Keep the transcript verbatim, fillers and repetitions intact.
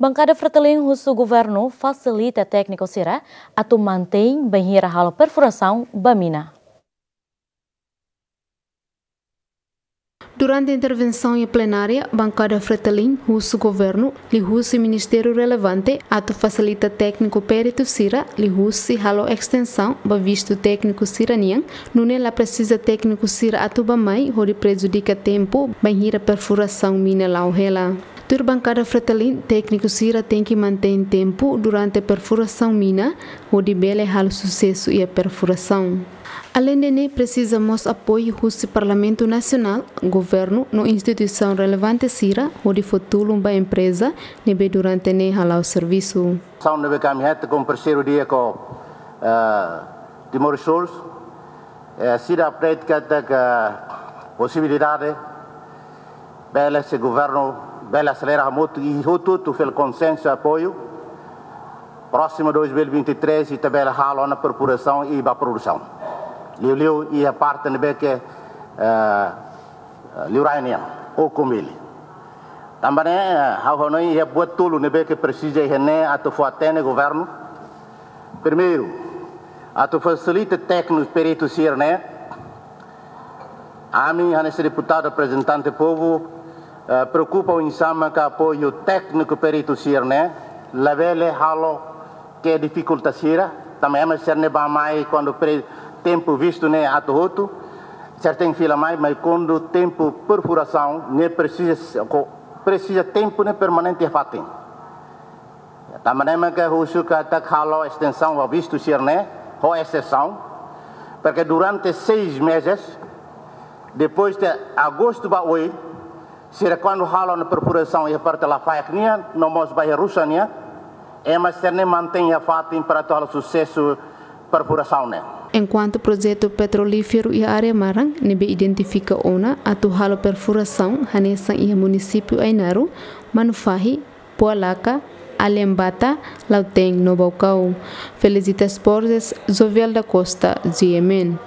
Bankada Fretilin husu governu fasilita tékniku sira atu mantein bainhira halo perfurasaun ba mina. Durante intervensaun iha plenária, bankada Fretilin husu governu liuhusi ministériu relevante atu fasilita tékniku peritu sira liuhusi halo estensaun ba vistu tékniku sira-nian, nune'e la presiza tékniku sira atu bá-mai hodi prejudika tempu bainhira perfurasaun mina la'o hela. Tuir bankada Fretilin, tékniku sira tenke mantein tempu durante perfurasaun mina hodi bele halo susesu iha perfurasaun. Aleinde ne'e, presiza mós apoiu husi Parlamentu Nasionál, governu no instituisaun relevante sira hodi fó tulun ba empreza ne'ebé durante ne'e hala'o servisu. Asaun ne'ebé ke ami hetan komu parseiru di'ak ho, eh, Timor Resource, eh, sira aprezia katak posibilidade bele se governu bele aselera hamutuk i hotu-hotu fila konsensu apoiu. Prósimu dois mil e vinte e três ita bele halo ona perfurasaun i bá produsaun. Liuliu iha parte ne'ebé ke, eh, liurai nian, Okumili. Tanba ne'e, eh, ha'u hanoin iha buat tolu ne'ebé ke presiza iha ne'e atu fó-hatene governu. Primeiru, atu fasilita tékniku peritu sira-ne'e. Ami, hanesan deputadu reprezentante povu, eh, preokupa oinsá maka apoiu tékniku peritu sira-ne'e labele halo ke'e difikulta sira, tanba ema sira-ne'e bá-mai kuandu pre-, tempu vistu ne'e atu hotu, sira tenke fila mai, mas kuandu tempu perfurasaun ne'e presiza, ko-, presiza tempu ne'e permanente iha fatin. Tanba ne'e maka husu katak halo estensaun ba vistu sira-ne'e ho exesaun, para que durante seis meses, depois de agostu ba oin, sira kuandu halo ona perfurasaun iha parte Lafaek nian, no mós ba iha Rusa nian, ema sira-ne'e mantein iha fatin para atu halo susesu perfurasaun ne'e. Enkuantu projetu petrolíferu iha área maran ne'ebé identifika ona atu halo perfurasaun hanesan iha munisípiu Ainaro, Manufahi, Pualaka, Aliambata, Lautém no Baucau. Felicitas Borges, Jovial da Costa, G M N.